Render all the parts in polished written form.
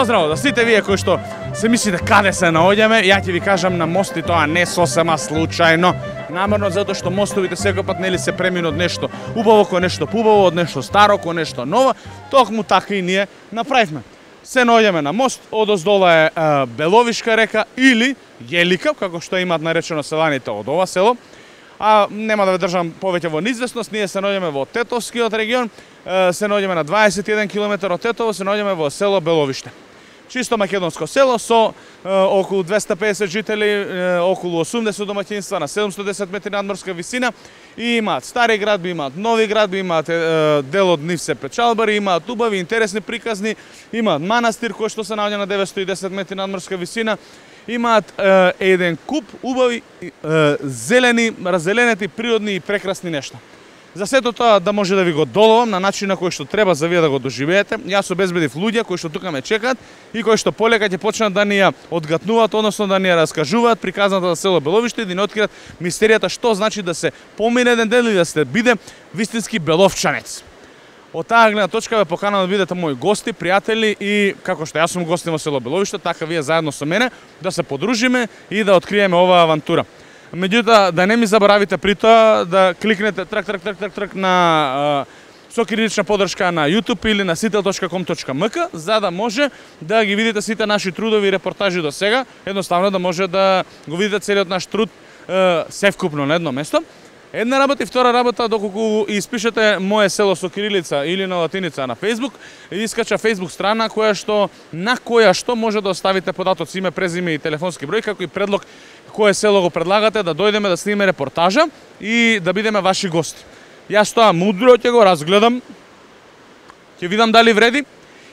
Здраво, да сите вие кои што се мислите каде се наоѓаме, ја ќе ви кажам на мост и тоа не сосема случајно. Намерно затоа што мостовите секој пат нели се премину од нешто убаво кон нешто поубаво, од нешто старо кон нешто ново, токму така и ние направивме. Се наоѓаме на мост, одоздола е Беловишка река или Јелика, како што имаат наречено селаните од ова село. А нема да ве држам повеќе во неизвестност, ние се наоѓаме во Тетовскиот регион, се наоѓаме на 21 км од Тетово, се наоѓаме во село Беловиште. Чисто македонско село со околу 250 жители, околу 80 домаќинства на 710 метри надморска висина и имаат стари градби, имаат нови градби, имаат дел од нив се печалбари, имаат убави, интересни приказни, имаат манастир кој што се наоѓа на 910 метри надморска висина, имаат еден куп убави, зелени, раззеленети, природни и прекрасни нешта. За сето тоа да може да ви го доловам на начин на кој што треба за вие да го доживеете, јас обезбедив луѓе кои што тука ме чекаат и кои што полека ќе почнат да ни ја одгатнуваат, односно да ни ја раскажуваат приказната за село Беловиште и да ни откријат мистеријата што значи да се помине еден дел и да се биде вистински беловчанец. Од таа гледна точка ве поканувам да бидете мои гости, пријатели и како што јас сум гостин во село Беловиште, така вие заедно со мене да се подружиме и да откриеме оваа авантура. Меѓутоа, да не ми заборавите при тоа да кликнете трак на со кирилична подршка на YouTube или на sitel.com.mk за да може да ги видите сите наши трудови и репортажи до сега, едноставно да може да го видите целиот наш труд севкупно на едно место. Една работа и втора работа, доколку испишете Мое село со кирилица или на латиница на Facebook, искача Facebook страна на која што може да оставите податоци, име, презиме и телефонски број, како и предлог кое село го предлагате да дојдеме да снимеме репортажа и да бидеме ваши гости. Јас тоа мудро ќе го разгледам, ќе видам дали вреди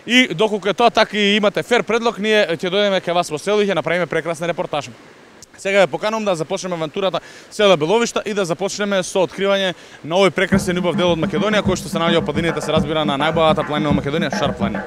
и доколку е тоа така и имате фер предлог, ние ќе дојдеме кај вас во село и ќе направиме прекрасна репортажа. Сега ве поканувам да започнеме авантурата село Беловиште и да започнеме со откривање на овој прекрасен убав дел од Македонија кој што се наоѓа во падините, се разбира, на најбогата планина во Македонија, Шар планина.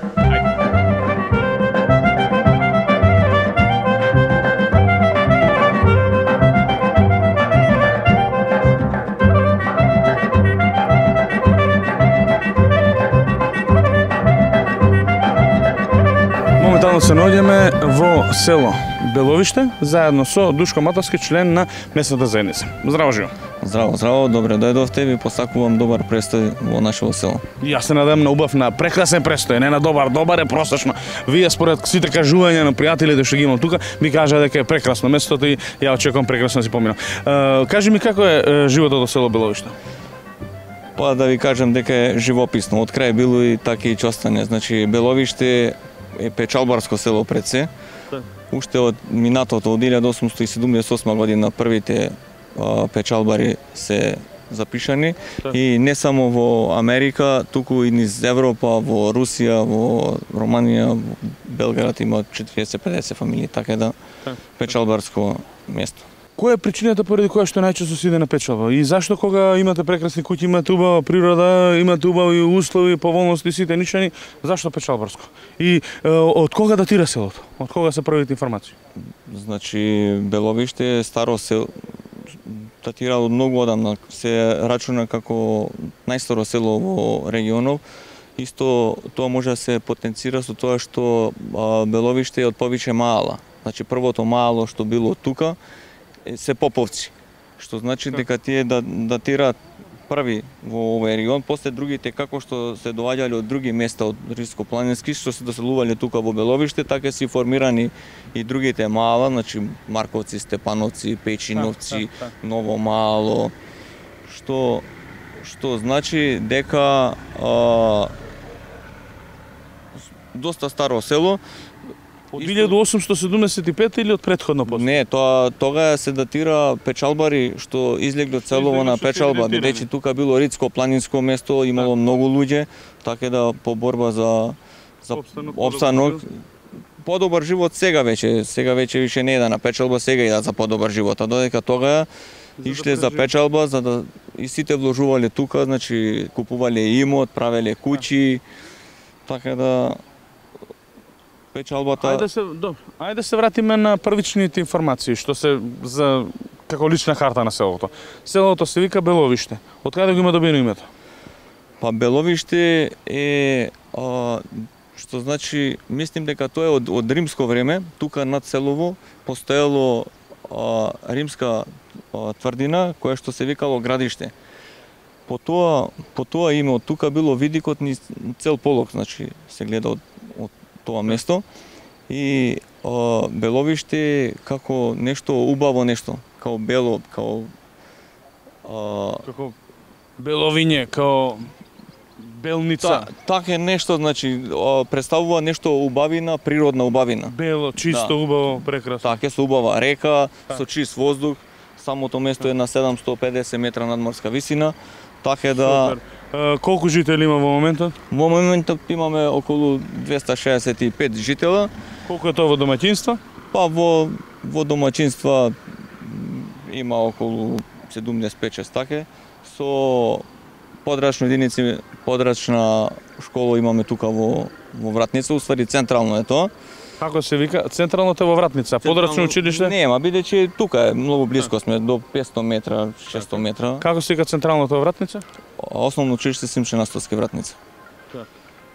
Моментално се наоѓаме во село Беловиште, заедно со Душко Матовски, член на местната заедница. Здраво, живо! Здраво, добре дојдовте, ви посакувам добар престој во нашето село. Јас се надевам на убав, на прекрасен престој, не на добар е просечно. Вие според сите кажувања на пријателите што ги имам тука, ми кажа дека е прекрасно местото и ја очекувам прекрасно да си поминам. Кажи ми како е животот во село Беловиште? Па да ви кажам дека е живописно, од крај било и така и чостане. Значи Беловиште е печалбарско село пред се. Уште од минатото, од 1878 година, првите печалбари се запишани и не само во Америка, туку и низ Европа, во Русија, во Романија, во Белград има 40-50 фамилии, така да печалбарско место. Која е причината поради која што најчесто се иде на печалба? И зашто кога имате прекрасни куќи, имате убава природа, имате убави услови, поволности, сите нишани, зашто печалбарско? И од кога датира селото? Од кога се првите информации? Значи Беловиште е старо село, датира од многу одамна, се рачуна како најстаро село во регионов. Исто тоа може да се потенцира со тоа што Беловиште е од повеќе маала. Значи првото маало што било тука се поповци, што значи дека тие датираат први во овој регион, после другите како што се доаѓале од други места од риско-планински, што се доселувале тука во Беловиште, така се формирани и другите маала, значи Марковци, Степановци, Печиновци, Ново Мало, што значи дека доста старо село. Од 1875 или од претходно после? Не, тога се датира печалбари што излегле од селово на печалба, бидејќи тука било ридско-планинско место, имало многу луѓе, така да по борба за опстанок, подобар живот сега веќе више не е на печалба, сега идат за подобар живот, а додека тога ишле за печалба, за да и сите вложувале тука, значи купувале имот, правеле куќи, така да печалбата. Ајде да се вратиме на првичните информации што се за како лична карта на селото. Селото се вика Беловиште. Од каде го има добиено името? Па Беловиште е што значи мислим дека тоа е од римско време, тука над селово постоело римска тврдина која што се викало градиште. По тоа име од тука било видикот ни цел полок, значи се гледа од тоа место и Беловиште како нешто убаво нешто, као бело, како беловиње, као белница. Така е нешто, значи представува нешто убавина, природна убавина. Бело, чисто, убаво, прекрасно. Така е, со убава река, со чист воздух. Самото место е на 750 метра надморска висина. Така е да... Колку жители има во моментот? Во моментот имаме околу 265 житела. Колку е тоа во домаќинства? Па во домаќинства има околу 75 така. Со подрачни единици, подрачна школа имаме тука во Вратница, уствари централно е тоа. Како се вика? Централното е во Вратница, подрачно училиште? Нема, бидејќи тука е многу близко сме, до 500 метра, 600 метра. Како се вика централното во Вратница? Основно училиште Симче Настовски Вратница.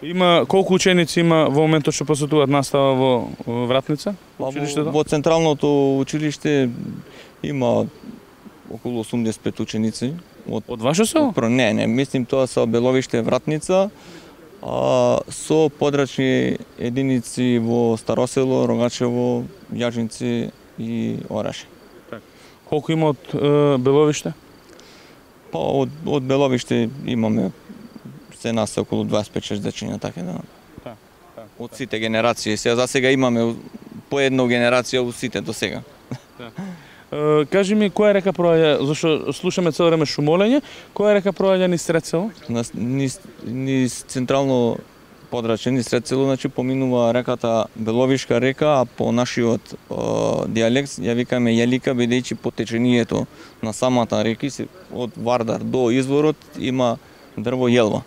Има колку ученици има во моментот што посетуваат настава во Вратница? Во централното училиште има околу 85 ученици. Од ваше село? Не, мислим тоа со Беловиште Вратница, со подрачни единици во Старосело, Рогачево, Јажинци и Ораше. Колку има од Беловиште? Па од Беловиште имаме се нас околу 25-6 дечиња, така да. Од сите генерации. За сега имаме по една генерација од сите до сега. Кажи ми, која река проаѓа, зашто слушаме цело време шумолење, која река проаѓа низ Средсело? Низ централно подрачје, низ Средсело, значи поминува реката Беловишка река, а по нашиот дијалект ја викаме Јелика, бидејќи по течението на самата реки, од Вардар до изворот, има дрво јелва.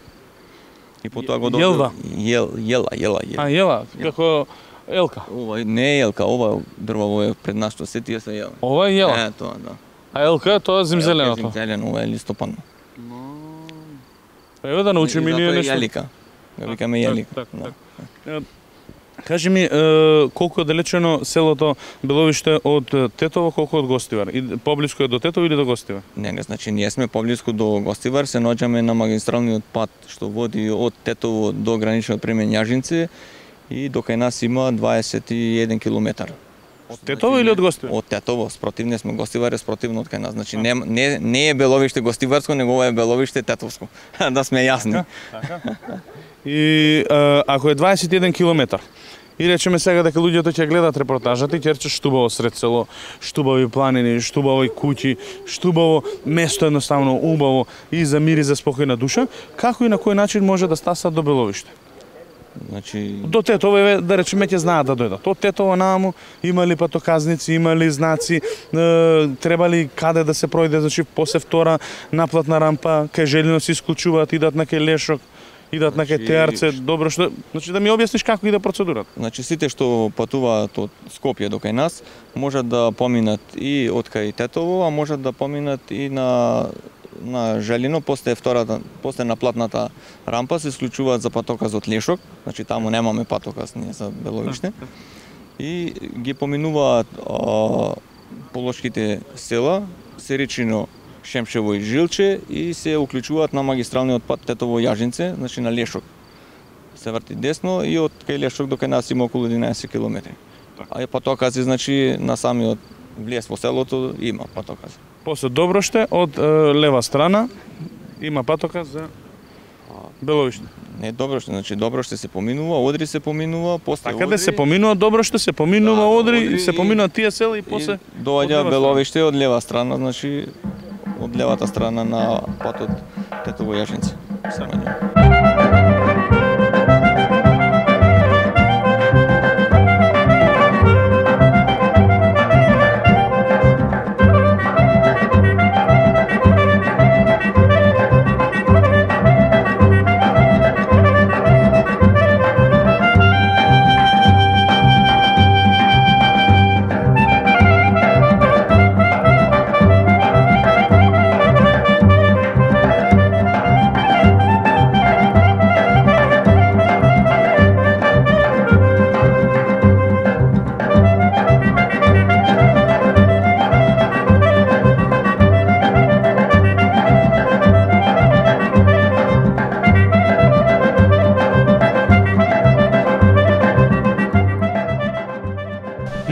И потоа го Јелва? Јела. Јела, како елка. Ова не е елка, ова дрво е пред нас што се тие се јела. Ова е јела? Е, тоа, да. А елка е тоа зимзеленото? Зимзелено, ова е листопадно. Еве да научим и ние нешто. Јелика. Ја викаме Јелика. Кажи ми, колку е далечено селото Беловиште од Тетово, колку од Гостивар? И поблиску е до Тетово или до Гостивар? Не, значи ние сме поблиску до Гостивар, се наоѓаме на магистралниот пат што води од Тетово до граничниот премин Јажинци и до кај нас има 21 километар. Од Тетово или од Гостивар? Од Тетово, спротивни сме, Гостивар е спротивно од кај нас. Значи не е Беловиште Гостиварско, него ова е Беловиште Тетовско. Да сме јасни. И ако е 21 километар, и речеме сега дека луѓето ќе гледат репортажата и ќе рече штубаво Средсело, штубави планини, штубави куќи, штубаво место едноставно убаво и за мир и за спокојна душа, како и на кој начин може да стаса до Беловиште? Значи до Тетово, да речеме, ќе знаат да дојдат. Од Тетово наму има ли патоказници, има ли знаци, треба ли каде да се пројде, значи после втора наплатна рампа, кај Желино се исклучуваат, идат на кај Лешок, идат на кај Теарце, добро што, значи да ми објасниш како иде процедурата. Значи сите што патуваат од Скопје до кај нас можат да поминат и од кај Тетово, а можат да поминат и на Желино, после наплатната рампа се исклучуваат за патоказот Лешок, значи таму немаме патоказ ние за Беловиште. И ги поминуваат полошките села, Серичино, Шемшево и Жилче и се уклучуваат на магистралниот пат Тетово-Јажинце, значи на Лешок. Се врти десно и од кај Лешок до кај нас има околу 11 километри. А патокази, значи на самиот влез во селото има патокази. После Доброште од лева страна има патоказ за Беловиште. Не Доброште, значи Доброште се поминува, Одри се поминува, после Така да се поминува Доброште, се поминува Одри, се поминуваат тие села и после доаѓа Беловиште од лева страна, значи од левата страна на патот Тетово-Јажинци.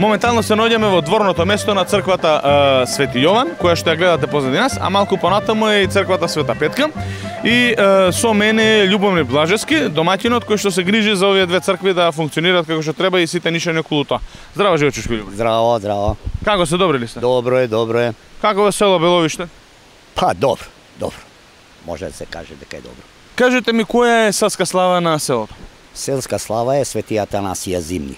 Моментално се наоѓаме во дворното место на црквата Свети Јован, која што ја гледате позади нас, а малку понатаму е и црквата Света Петка. И со мене е Љубомир Блажевски, домаќинот кој што се грижи за овие две цркви да функционираат како што треба и сите нишани околу тоа. Здраво, живечушки Љубомир. Здраво, здраво. Како се, добри ли сте? Добро е, добро е. Како е село Беловиште? Па, добро, добро. Може да се каже дека е добро. Кажете ми, која е селска слава на селото? Селска слава е Свети Атанасија Зимни.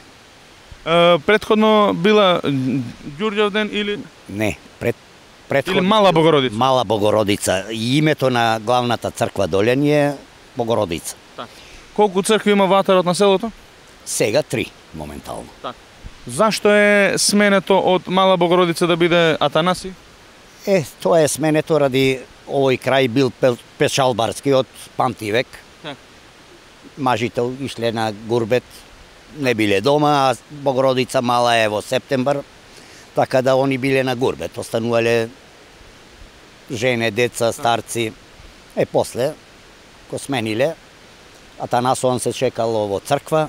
Предходно била Ѓурѓевден или Не, или Мала Богородица? Мала Богородица. И името на главната црква доле ни е Богородица. Колку цркви има во атарот на селото? Сега 3 моментално. Зашто е сменето од Мала Богородица да биде Атанаси? Тоа е сменето ради овој крај бил пешалбарски од памти век. Мажите ишле на гурбет, не биле дома, а Богородица Мала е во септембар, така да они биле на гурбет, останувале жене, деца, старци. После, ко смениле, Атанасон се чекало во црква,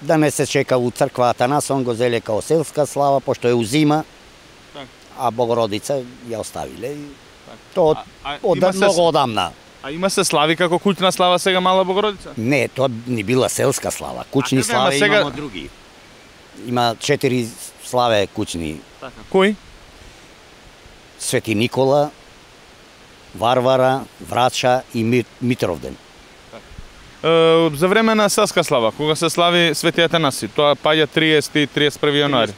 да не се чека у црква Атанасон го зеле као селска слава, пошто е узима, а Богородица ја оставиле. Тоа од многу одамна. А има се слави како куќна слава сега Мала Богородица? Не, тоа ни била селска слава. Куќни слави сега... имамо други. Има 4 славе куќни. Кои? Свети Никола, Варвара, Врача и Митровден. За време на селска слава, кога се слави Свети Атанаси, тоа паѓа 31 јануари.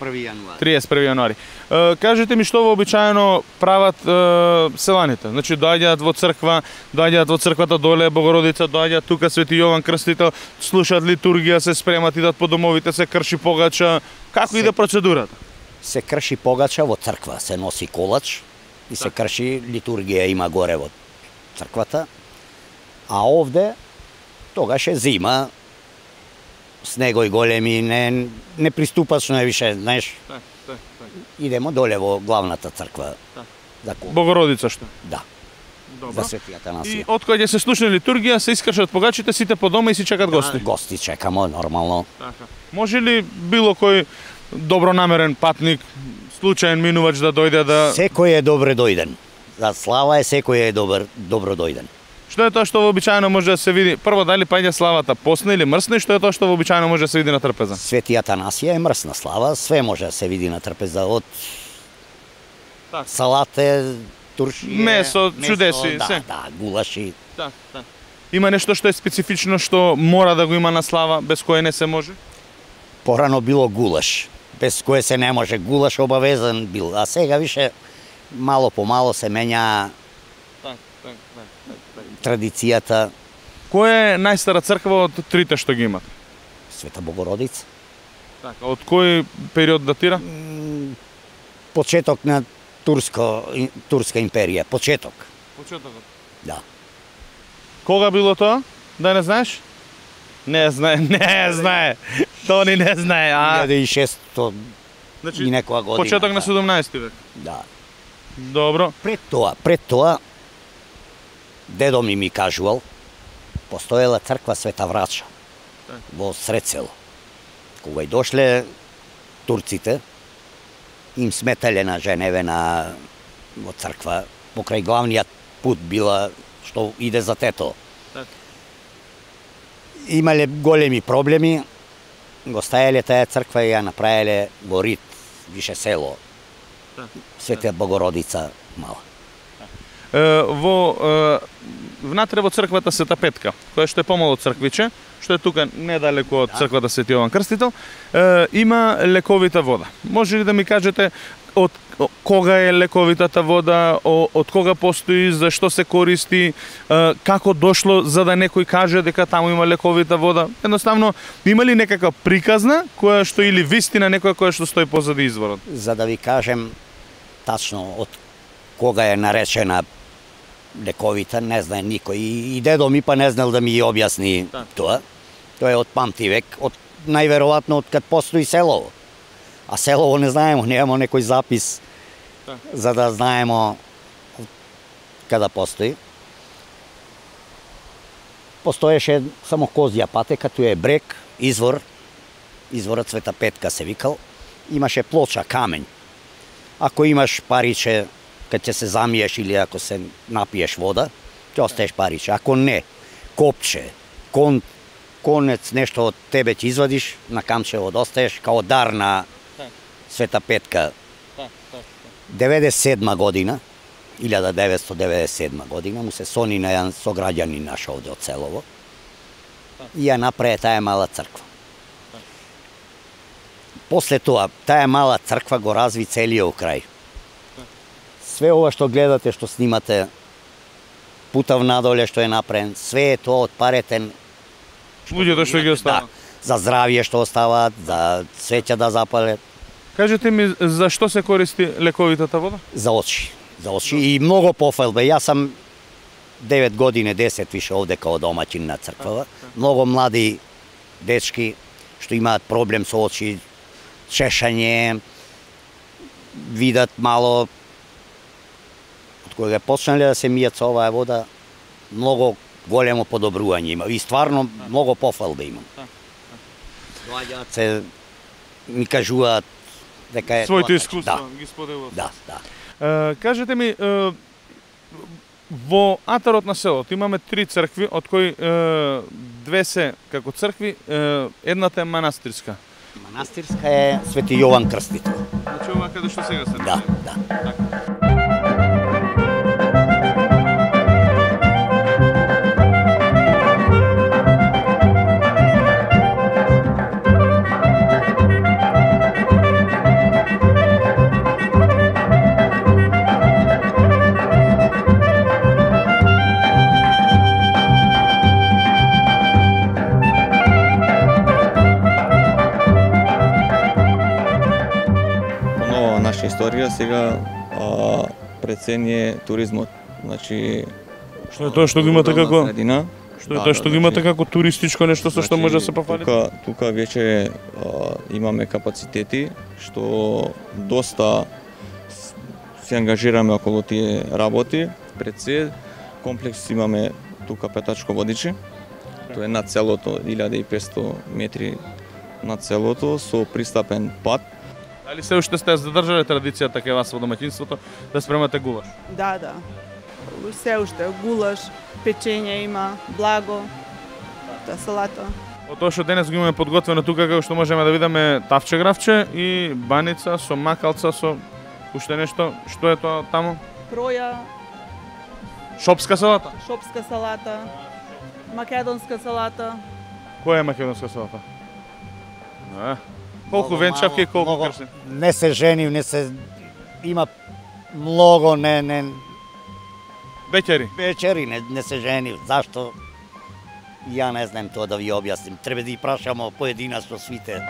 31 јануари. Кажете ми што вообичаено прават селаните? Значи доаѓаат во црквата доле Богородица, доаѓаат тука Свети Јован Крстител, слушаат литургија, се спремат, идат по домовите, се крши погача. Како иде процедурата? Се крши погача во црква, се носи колач и се крши литургија има горе во црквата. А овде тогаш е зима, снегој големи, неприступачно е више, знаеш. Идемо доле во главната црква. Богородица што? Да. За Свети Атанасија. И откај се слушне литургија, се искршат погачите, сите по дома и си чекат гости. Гости чекамо, нормално. Може ли било кој добронамерен патник, случаен минувач да дојде да... Секој е добро дојден. За слава е секој е добро дојден. Што е тоа што вообичаено може да се види? Прво, дали паѓа славата посна или мрсна и што е тоа што вообичаено може да се види на трпеза? Свети Атанасија е мрсна слава, све може да се види на трпеза, од салате, туршије, месо, чудеси, се. Да, гулаши. Има нешто што е специфично што мора да го има на слава, без кое не се може? Порано било гулаш, без кое се не може. Гулаш обавезен бил, а сега више мало по мало се менја традицијата. Која е најстара црква од трите што ги имат? Света Богородица. Така, од кој период датира? Почеток на Турска империја, почеток. Почетокот? Да. Кога било тоа? Да не знаеш? Не знае. Тони не знае. 1600 и некоја година. Почеток на 17 век. Да. Добро. Пред тоа дедо ми кажувал, постоела црква Света Врача во сред село. Кога и дошле турците, им сметале на женеве во црква, покрај главниот пут била што иде за Тето. Имале големи проблеми, го стајале таа црква и ја направиле во Рит, више село. Света Богородица Мала. Внатре во црквата Света Петка, која што е помало црквиче, што е тука недалеку од црквата Свети Јован Крстител, има лековита вода. Може ли да ми кажете од кога е лековитата вода, од кога постои, за што се користи, како дошло за да некој каже дека таму има лековита вода? Едноставно, има ли некаква приказна која што или вистина некоја која што стои позади изворот? За да ви кажем тачно од кога е наречена лековита, не знае никој. И дедо ми па не знал да ми објасни тоа. Тоа е од памти век, од најверојатно од кад постои селово. А селово не знаемо, немамо некој запис за да знаемо када постои. Постоеше само козја патека, тоа е брег, извор, изворот Света Петка се викал, имаше плоча, камењ. Ако имаш париче, кога ќе се замиеш или ако се напиеш вода, ќе остаеш париче. Ако не, копче, конец, нешто од тебе ќе извадиш, на камчево остаеш, као дар на Света Петка. 97 година, 1997 година, му се сони на еден сограѓанин наш овде од селово и ја направи таа мала црква. После тоа, таа мала црква го разви целиот крај. Све ова што гледате, што снимате, путав надоле што е направен, све е тоа од парите Луѓето што ги остават. За здравје што оставаат, за свеќа да запалят. Кажете ми, за што се користи лековитата вода? За очи. За очи и многу пофалбе. Јас сам 9 години, 10 више овде као домаќин на црквава. Многу млади дечки што имаат проблем со очи, чешање, видат мало, од кога почнале да се мијат со оваа вода, многу големо подобрување има. И стварно многу пофалбе има. Доаѓаат се, ми кажуваат дека е своите искуства ги споделуваат. Да. Кажете ми, во атарот на селото имаме 3 цркви, од кои 2 се како цркви, едната е манастирска. Манастирска е Свети Јован Крстител. Значи ова каде што сега се Да, да. Наша историја сега прецени е туризмот. Значи што е тоа што го имате како средина. Што е тоа што го имате како туристичко нешто со што може да се пофали? Тука веќе имаме капацитети што доста се ангажираме околу тие работи. Пред се комплекс имаме тука Петачко водиче. Тоа е над селото, 1500 метри над селото со пристапен пат. Дали се уште сте задржале традицијата кај вас во домаќинството да спремате гулаш? Да, да. Се уште гулаш, печење има, благо, салата. Од тоа што денес го имаме подготвено тука, како што можеме да видиме тавче гравче и баница со макалца со уште нешто, што е тоа таму? Проја, Шопска салата. шопска салата, македонска салата. Која е македонска салата? Колку венчавки и колку кршни? Не се женив, не се има многу Беќери. вечери не се женив. Зашто? Ја не знам тоа да ви објасним. Треба да ги прашамо поединачно свите.